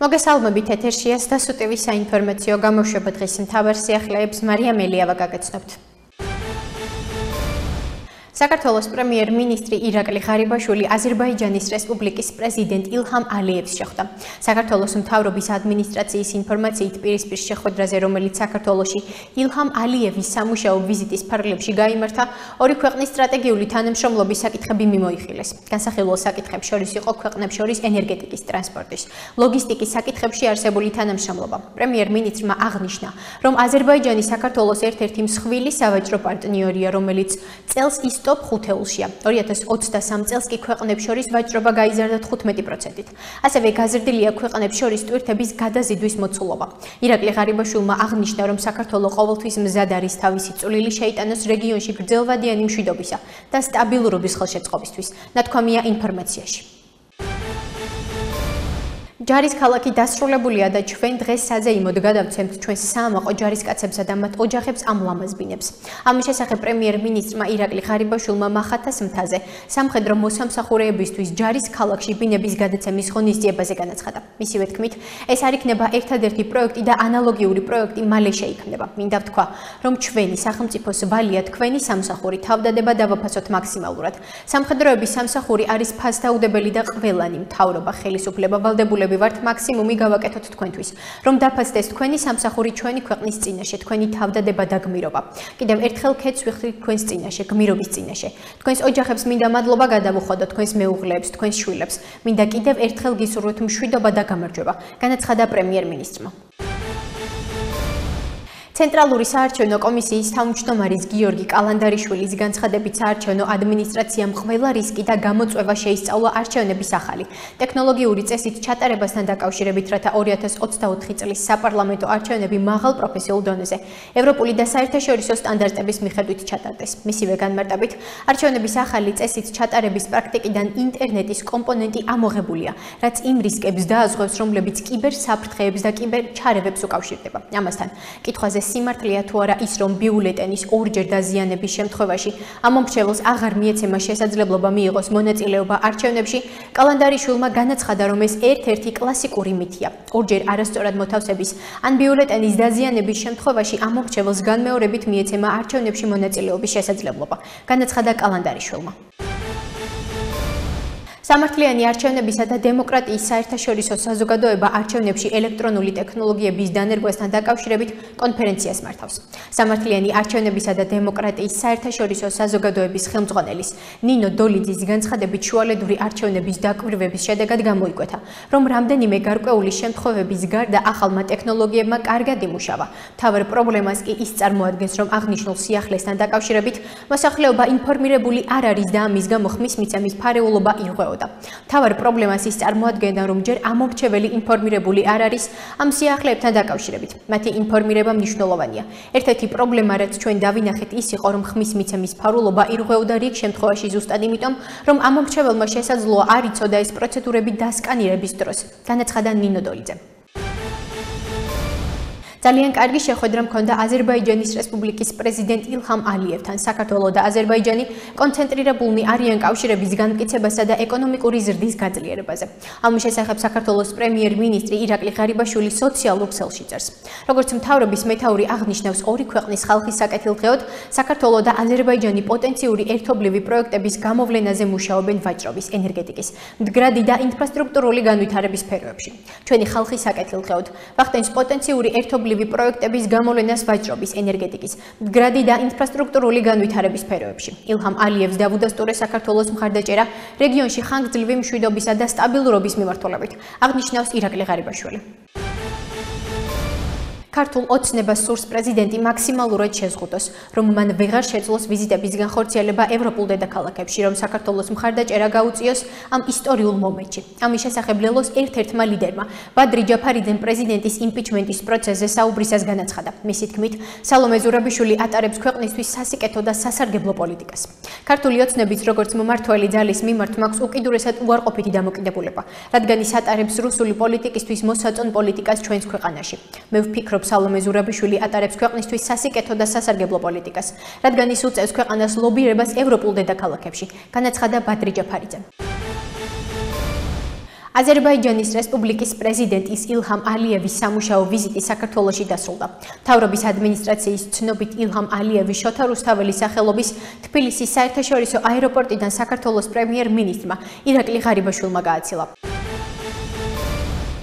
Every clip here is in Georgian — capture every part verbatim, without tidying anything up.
მოგესალმებით, ეთერშია SDASU ტი ვი საინფორმაციო გამოშვება. დღის მთავარ სიახლეებს მარია მელიავა გაგაცნობთ. საქართველოს პრემიერ-მინისტრი ირაკლი ღარიბაშვილი აზერბაიჯანის რესპუბლიკის პრეზიდენტ ილჰამ ალიევს შეხვდა. საქართველოს მთავრობის ადმინისტრაციის ინფორმაციით პირისპირ შეხვედრაზე, რომელიც საქართველოში ილჰამ ალიევის სამუშაო ვიზიტის ფარგლებში გაიმართა, ორი ქვეყნის სტრატეგიული თანამშრომლობის საკითხები მიმოიხილეს. განსახილველ საკითხებს შორის იყო ქვეყნებს შორის ენერგეტიკის, ტრანსპორტის, ლოგისტიკის საკითხებში არსებული თანამშრომლობა. პრემიერ-მინისტრმა აღნიშნა, რომ აზერბაიჯანი საქართველოს ერთ-ერთი მსხვილი სავაჭრო პარტნიორია, რომელიც წელს ის ტოპ ხუთეულშია. ორი ათას ოცდასამ წელს კი ქვეყნებს შორის ვაჭრობა გაიზარდა თხუთმეტი პროცენტით. ასევე გაზრდილია ქვეყნებს შორის ტვირთების გადაზიდვის მოცულობა. ირაკლი ღარიბაშვილმა აღნიშნა, რომ საქართველოს ყოველთვის მზად არის თავისი წვლილი შეიტანოს რეგიონში გრძელვადიანი მშვიდობისა და სტაბილურობის ხელშეწყობისთვის. ნათქვამია ინფორმაციაში. ჯარის ქალაქი დასრულებულია და ჩვენ დღეს საზეიმოდ გადავცემთ ჩვენს საამაყო ჯარისკაცებსა და მათ ოჯახებს ამ ლამაზ ბინებს. ამის შესახებ პრემიერ-მინისტრმა ირაკლი ღარიბაშვილმა მახათას მთაზე სამხედრო მოსამსახურეებისთვის ჯარის ქალაქში ბინების გადაცემის ღონისძიებაზე განაცხადა. მისივე თქმით, ეს არ იქნება ერთადერთი პროექტი და ანალოგიური პროექტი მალე შეიქმნება. მინდა ვთქვა, რომ ჩვენი სახელმწიფოს ვალია თქვენი სამსახური თავდადება დავაფასოთ მაქსიმალურად. სამხედროების სამსახური არის ფასდაუდებელი და ყველანი მთავრობა, ხელისუფლება, ვალდებულება ვართ მაქსიმუმი გავაკეთოთ თქვენთვის, რომ დაფასდეს თქვენი სამსახური ჩვენი ქვეყნის წინაშე, თქვენი თავდადება და გმირობა. კიდევ ერთხელ ქეთს ვიხდით თქვენს წინაშე, გმირობის წინაშე. თქვენს ოჯახებს მინდა მადლობა გადავუხოდოთ, თქვენს მეუღლეებს, თქვენს შვილებს. მინდა კიდევ ერთხელ გისურვოთ მშვიდობა და გამარჯვება, განაცხადა პრემიერ-მინისტრმა. ცენტრალური საარჩევნო კომისიის თავმჯდომარის გიორგი კალანდარიშვილის განცხადებით, საარჩევნო ადმინისტრაციამ ყველა რისკი და გამოწვევა შეისწავლა არჩევნების ახალი ტექნოლოგიური წესით ჩატარებასთან დაკავშირებით, რათა ორი ათას ოცდაოთხი წლის საპარლამენტო არჩევნები მაღალ პროფესიულ დონეზე, ევროპული და საერთაშორისო სტანდარტების მიხედვით ჩატარდეს. მისივე განმარტებით, არჩევნების ახალი წესით ჩატარების პრაქტიკიდან ინტერნეტის კომპონენტი ამოღებულია, რაც იმ რისკებს დააზღვევს, რომლებიც კიბერ საფრთხეებს და კიბერ ჩარევებს უკავშირდება. ამასთან, კითხვაზე სიმართლეა თუ არა ის, რომ ბიულეტენის ორჯერ დაზიანების შემთხვევაში ამომრჩეველს აღარ მიეცემა შესაძლებლობა მიიღოს მონაწილეობა არჩევნებში, კალანდარიშვილმა განაცხადა, რომ ეს ერთ-ერთი კლასიკური მითია. ორჯერ არასწორად მოთავსების ან ბიულეტენის დაზიანების შემთხვევაში ამომრჩეველს განმეორებით მიეცემა არჩევნებში მონაწილეობის შესაძლებლობა, განაცხადა კალანდარიშვილმა. სამართლიანი არჩევნებისა და დემოკრატიის საერთაშორისო საზოგადოება არჩევნებში ელექტრონული ტექნოლოგიების დანერგვასთან დაკავშირებით კონფერენციას მართავს. სამართლიანი არჩევნებისა და დემოკრატიის საერთაშორისო საზოგადოების ხელმძღვანელის ნინო დოლიძის განცხადებით, შუალედური არჩევნების დაკვირვების შედეგად გამოიკვეთა, რომ რამდენიმე გარკვეული შემთხვევების გარდა ახალმა ტექნოლოგიებმა კარგად იმუშავა. მთავარ პრობლემას კი ის წარმოადგენს, რომ აღნიშნულ სიახლესთან დაკავშირებით მოსახლეობა ინფორმირებული არ არის და ამის გამო ხმის მიცემის ფარეულობა ირღვეოდა. მთავარ პრობლემას ის წარმოადგენდა, რომ ჯერ ამომრჩეველი ინფორმირებული არ არის ამ სიახლეებთან დაკავშირებით. მათი ინფორმირება მნიშვნელოვანია. ერთ-ერთი პრობლემა, რაც ჩვენ დავინახეთ, ის იყო, რომ ხმის მიცემის ფარულობა ირღვეოდა რიგ შემთხვევაში ზუსტად იმიტომ, რომ ამომრჩეველმა შესაძლოა არ იცოდა ეს პროცედურები დასკანირების დროს, განაცხადა ნინო დოლიძემ. ძალიან კარგი შეხვედრა მქონდა აზერბაიჯანის რესპუბლიკის პრეზიდენტ ილჰამ ალიევთან. საქართველოს და აზერბაიჯანი კონცენტრირებულნი არიან კავშირების განმტკიცებასა და ეკონომიკური ზრდის გაძლიერებაზე. ამის შესახებ საქართველოს პრემიერ-მინისტრი ირაკლი ღარიბაშვილი სოციალურ ქსელში წერს. როგორც მთავრობის მეთაური აღნიშნავს, ორი ქვეყნის ხალხის საკეთილდღეოდ საქართველოს და აზერბაიჯანი პოტენციური ერთობლივი პროექტების გამოვლენაზე მუშაობენ ვაჭრობის, ენერგეტიკის, მდგრადი და ინფრასტრუქტურული განვითარების სფეროებში. ჩვენი ხალხის საკეთილდღეოდ ვახდენს პოტენციური ერთობლივი პროექტების გამოვლენას ვაჭრობის, ენერგეტიკის, მდგრადი და ინფრასტრუქტურული განვითარების სფეროებში. ილჰამ ალიევს დავუდასტურეს საქართველოს მხარდაჭერა რეგიონში ხანგრძლივი მშვიდობისა და სტაბილურობის მიმართულებით, აღნიშნავს ირაკლი ღარიბაშვილი. ქართულ ოცნებას სურს პრეზიდენტი მაქსიმალურად შეზღუდოს, რომ მან ვეღარ შეძლოს ვიზიტების განხორციელება ევროპულ დედაქალაქებში, რომ საქართველოს მხარდაჭერა გაუწიოს ამ ისტორიულ მომენტში. ამის შესახებ ლელოს ერთ-ერთმა ლიდერმა ბადრი ჯაფარიძემ პრეზიდენტის იმპიჩმენტის პროცესზე საუბრისას განაცხადა. მისი თქმით, სალომე ზურაბიშვილი ატარებს ქვეყნისთვის სასიკეთო და სასარგებლო პოლიტიკას. ქართული ოცნების როგორც მომართველი ძალის მიმართ მაქვს უკიდურესად უარყოფითი დამოკიდებულება, რადგან ის ატარებს რუსული პოლიტიკისთვის მოსაწონ პოლიტიკას ჩვენს ქვეყანაში. მე ვფიქრობ, სალომე ზურაბიშვილი ატარებს ქვეყნისთვის სასიკეთო და სასარგებლო პოლიტიკას, რადგან ის უწევს ქვეყანას ლობირებას ევროპულ დედაქალაქებში, განაცხადა ბადრი ჯაფარიძემ. აზერბაიჯანის რესპუბლიკის პრეზიდენტის ილჰამ ალიევის სამუშაო ვიზიტი საქართველოში დასრულდა. მთავრობის ადმინისტრაციის ცნობით ილჰამ ალიევი შოთა რუსთაველის სახელობის თბილისის საერთაშორისო აეროპორტიდან საქართველოს პრემიერ-მინისტრმა ირაკლი ღარიბაშვილმა გააცილა.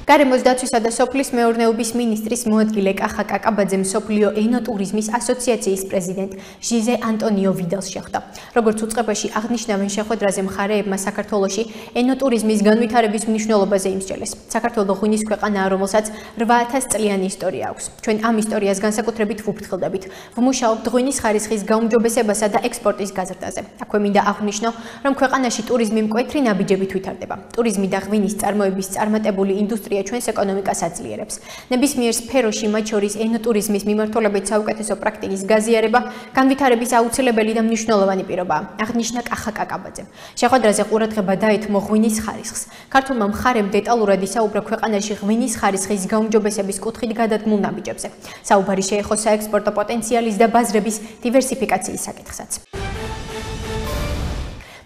გარემოს დაცვისა და სოფლის მეურნეობის მინისტრის მოადგილე კახა კაკაბაძემ სოფლიო ენოტურიზმის ასოციაციის პრეზიდენტ ჟიზე ანტონიო ვიდალს შეხვდა. როგორც უწყებაში აღნიშნავენ, შეხვედრაზე მხარეებმა საქართველოში ენოტურიზმის განვითარების მნიშვნელობაზე იმსჯელეს. საქართველო ღვინის ქვეყანაა, რომელსაც რვა ათას წლიანი ისტორია აქვს. ჩვენ ამ ისტორიას განსაკუთრებით ვუფრთხილდებით. ვმუშაობთ ღვინის ხარისხის გაუმჯობესებასა და ექსპორტის გაზრდაზე. აქვე მინდა აღვნიშნო, რომ ქვეყანაში ტურიზმი მკვეთრი ნაბიჯებით ვითარდება. ტურიზმი და ღვინის წარმოების წარმატებული ინდუსტრია ჩვენს ეკონომიკას აძლიერებს. ნებისმიერ სფეროში, მათ შორის ენოტურიზმის მიმართულებით საუკეთესო პრაქტიკის გაზიარება განვითარების აუცილებელი და მნიშვნელოვანი პირობაა, აღნიშნა კახა კაკაბაძემ. შეხვედრაზე ყურადღება დაეთმო ღვინის ხარისხს. ქართულმა მხარემ დეტალურად ისაუბრა ქვეყანაში ღვინის ხარისხის გაუმჯობესების კუთხით გადადგმულ ნაბიჯებზე. საუბარი შეეხო საექსპორტო პოტენციალის და ბაზრების დივერსიფიკაციის საკითხსაც.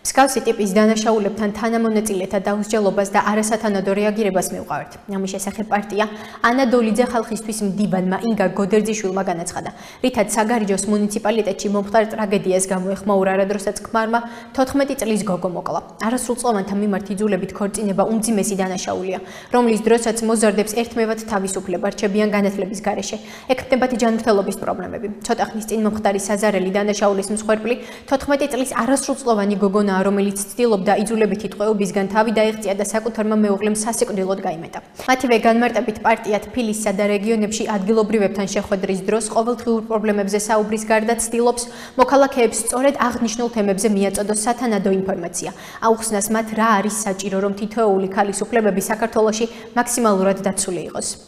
მსგავსი ტიპის დანაშაულებთან თანამონაწილეთა დაუსჯელობას და არასათანადო რეაგირებას მივყავართ. ამის შესახებ პარტია ანა დოლიძე ხალხისთვის მდივანმა ინგა გოდერძიშვილმა განაცხადა, რითაც საგარეჯოს მუნიციპალიტეტში მომხდარ ტრაგედიას გამოეხმაურა, რადროსაც ქმარმა თოთხმეტი წლის გოგო მოკლა. არასრულწლოვანთა მიმართ იძულებით ქორწინება უმძიმესი დანაშაულია, რომლის დროსაც მოზარდებს ერთმევად თავისუფლება რჩებიან განათლების გარეშე. ექმნებათ ჯანმრთელობის პრობლემები. ცოტა ხნის წინ მომხდარი საზარელი დანაშაულის მსხვერპლი თოთხმეტი წლის არასრულწლოვანი გოგონა, რომელიც ცდილობდა იძულებითი ტყვეობისგან თავი დაეღწია და საკუთარმა მეუღლემ სასიკვდილოდ გაიმეტა. მათივე განმარტებით პარტია თბილისსა და რეგიონებში ადგილობრივებთან შეხვედრის დროს ყოველდღიურ პრობლემებზე საუბრის გარდა ცდილობს მოქალაქეებს სწორედ აღნიშნულ თემებზე მიაწოდოს სათანადო ინფორმაცია. აუხსნას მათ რა არის საჭირო, რომ თითოეული ქალის უფლებები საქართველოში მაქსიმალურად დაცული იყოს.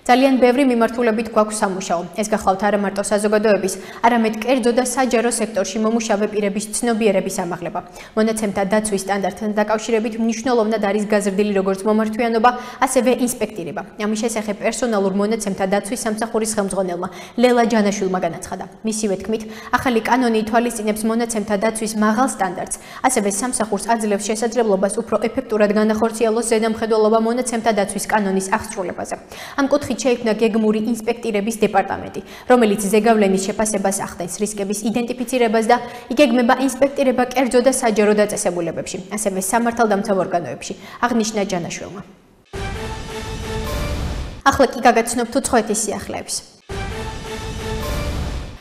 ძალიან ბევრი მიმართულებით გვაქვს სამუშაო. ეს გახლავთ არა მარტო საზოგადოების, არამედ კერძო და საჯარო სექტორში მომუშავე პირების ცნობიერების ამაღლება. მონაცემთა დაცვის სტანდარტთან დაკავშირებით მნიშვნელოვნად არის გაზრდილი როგორც მომართვიანობა, ასევე ინსპექტირება. ამის შესახებ პერსონალურ მონაცემთა დაცვის სამსახურის ხელმძღვანელმა ლელა ჯანაშვილმა განაცხადა. მისივე თქმით, ახალი კანონი ითვალისწინებს მონაცემთა დაცვის მაღალ სტანდარტს, ასევე სამსახურს აძლევს შესაძლებლობას უფრო ეფექტურად განახორციელოს ზედამხედველობა მონაცემთა დაცვის კანონის აღსრულებაზე. ამ კუთხით შეიქმნა გეგმური ინსპექტირების დეპარტამენტი, რომელიც ზეგავლენის შეფასებას ახდენს, რისკების იდენტიფიცირებას და იგეგმება ინსპექტირება კერძო და საჯარო დაწესებულებებში, ასევე სამართალდამცავ ორგანოებში, აღნიშნა ჯანაშვილმა. ახლა კი გაგაცნობთ უცხოეთის სიახლეებს.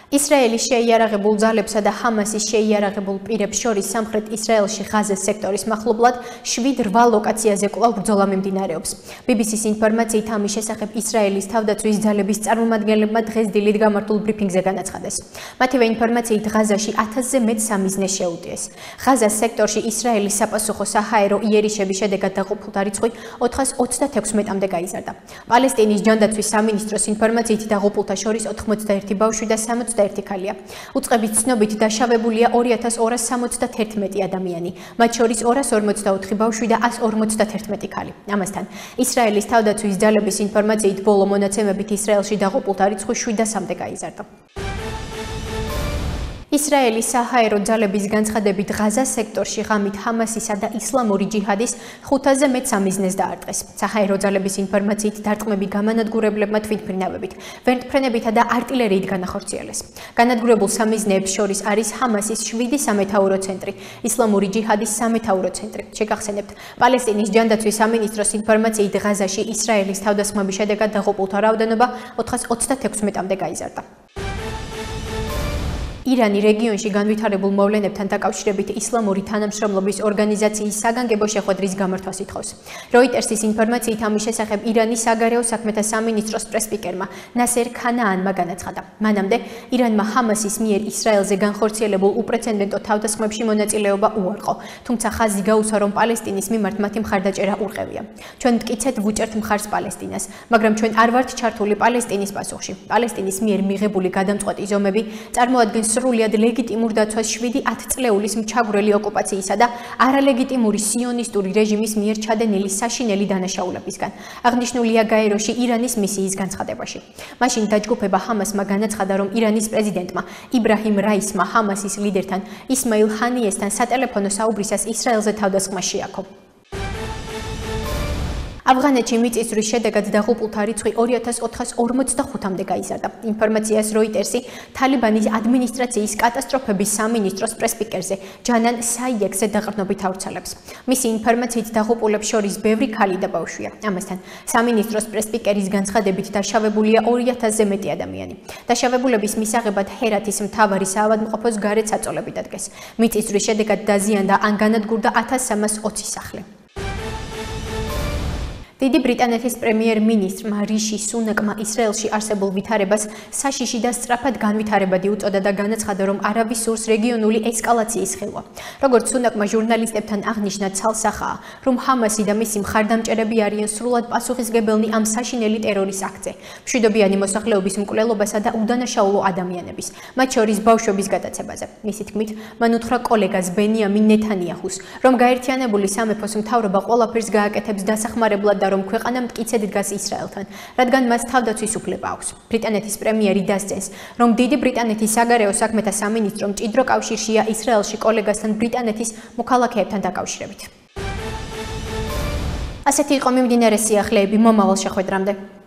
ისრაელის შეიარაღებულ ძალებსა და ჰამასის შეიარაღებულ პირებს შორის სამხრეთ ისრაელში ღაზას სექტორის მახლობლად შვიდ რვა ლოკაციაზე კვლავ ბრძოლა მიმდინარეობს. ბი ბი სის ინფორმაციით ამის შესახებ ისრაელის თავდაცვის ძალების წარმომადგენლებმა დღეს დილით გამართულ ბრიფინგზე განაცხადეს. მათივე ინფორმაციით ღაზაში ათასზე მეტ სამიზნეს შეუტიეს. ღაზას სექტორში ისრაელის საპასუხო საჰაერო იერიშების შედეგად დაყოფილთა რიცხვი ოთხას ოცდათექვსმეტამდე გაიზარდა. პალესტინის ჯანდაცვის სამინისტროს ინფორმაციით დაყოფილთა შორის ოთხმოცდაერთი ბავშვი და სამოცდაერთი ხალია. უწყების ცნობით დაშავებულია ორი ათას ორას სამოცდათერთმეტი ადამიანი, მათ შორის ორას ორმოცდაოთხი ბავშვი და ას ორმოცდათერთმეტი ქალი. ამასთან, ისრაელის თავდაცვის ძალების ინფორმაციით ბოლო მონაცემებით ისრაელში დაყოფილთა რიცხვი შვიდასამდე გაიზარდა. ისრაელის საჰაერო ძალების განცხადებით ღაზას სექტორში ღამით ჰამასისა და ისლამური ჯიჰადის ხუთაზე მეტ სამიზნეს დაარტყეს. საჰაერო ძალების ინფორმაციით დარტყმები გამანადგურებლებმა თვითმფრინავებით, ვერტმფრენებითა და არტილერიით განახორციელეს. განადგურებულ სამიზნეებს შორის არის ჰამასის შვიდი სამეთაურო ცენტრი, ისლამური ჯიჰადის სამეთაურო ცენტრი. შეგახსენებთ, პალესტინის ჯანდაცვის სამინისტროს ინფორმაციით ღაზაში ისრაელის თავდასხმების შედეგად დაყოფილთა რაოდენობა ოთხას ოცდათექვსმეტამდე გაიზარდა. ირანი რეგიონში განვითარებულ მოვლენებთან დაკავშირებით ისლამური თანამშრომლობის ორგანიზაციის საგანგებო შეხვედრის გამართვას ითხოვს. როიტერსის ინფორმაციით ამის შესახებ ირანის საგარეო საქმეთა სამინისტროს პრესპიკერმა ნასერ ქანაანმა განაცხადა. მანამდე ირანმა ჰამასის მიერ ისრაელზე განხორციელებულ უპრეცედენტო თავდასხმებში მონაწილეობა უარყო, თუმცა ხაზი გაუსვა, რომ პალესტინის მიმართ მათი მხარდაჭერა ურყევია. ჩვენ მტკიცეთ ვუჭერთ მხარს პალესტინას, მაგრამ ჩვენ არ ვართ ჩართული პალესტინის პასუხში. პალესტინის მიერ მიღებული გადამწყვეტი ზომები წარმოადგენს სრულად ლეგიტიმურ დაცვას შვიდი ათწლეულის მჩაგვრელი ოკუპაციისა და არალეგიტიმური სიონისტური რეჟიმის მიერ ჩადენილი საშინელი დანაშაულებისგან. აღნიშნულია გაეროში ირანის მისიის განცხადებაში. მაშინ დაჯგუფება ჰამასმა განაცხადა, რომ ირანის პრეზიდენტმა იბრაჰიმ რაისმა ჰამასის ლიდერთან ისმაილ ჰანიესთან სატელეფონო საუბრისას ისრაელზე თავდასხმა შეაქო. ავღანეთში მიწისძვრის შედეგად დაღუპულთა რიცხვი ორი ათას ოთხას ორმოცდახუთამდე გაიზარდა. ინფორმაციას როიტერსი თალიბანის ადმინისტრაციის კატასტროფების სამინისტროს პრესპიკერზე ჯანან საიექსზე დაყრდნობით ავრცელებს. მისი ინფორმაციით დაღუპულებს შორის ბევრი ქალი და ბავშვია. ამასთან სამინისტროს პრესპიკერის განცხადებით დაშავებულია ორი ათასზე მეტი ადამიანი. დაშავებულების მისაღებად ჰერათის მთავარი საავადმყოფოს გარეთ საწოლები დადგეს. მიწისძვრის შედეგად დაზიანდა ან განადგურდა ათას სამას ოცი სახლი. დიდი ბრიტანეთის პრემიერ-მინისტრმა რიში სუნაკმა ისრაელში არსებულ ვითარებას საშიში და სწრაფად განვითარებადი უწოდა და განაცხადა, რომ არავის სურს რეგიონული ესკალაციის ხილვა. როგორც სუნაკმა ჟურნალისტებთან აღნიშნა, ცალსახაა, რომ ჰამასი და მისი მხარდამჭერები არიან სრულად პასუხისმგებელნი ამ საშინელი ტერორის აქტზე, მშვიდობიანი მოსახლეობის მკვლელობასა და უდანაშაულო ადამიანების, მათ შორის ბავშვების გადაცემაზე. მისი თქმით, მან უთხრა კოლეგას ბენიამინ ნეთანიაჰუს, რომ გაერთიანებული სამეფოს მთავრობა ყველაფერს გააკეთებს დასახმარებლად რომ ქვეყანა მტკიცედ დგას ისრაელთან, რადგან მას თავდაცვის უფლება აქვს. ბრიტანეთის პრემიერი დასძენს, რომ დიდი ბრიტანეთის საგარეო საქმეთა სამინისტრო მჭიდრო კავშირშია ისრაელში კოლეგასთან ბრიტანეთის მოქალაქეებთან დაკავშირებით. ასეთი იყო მიმდინარე სიახლეები მომავალ შეხვედრამდე.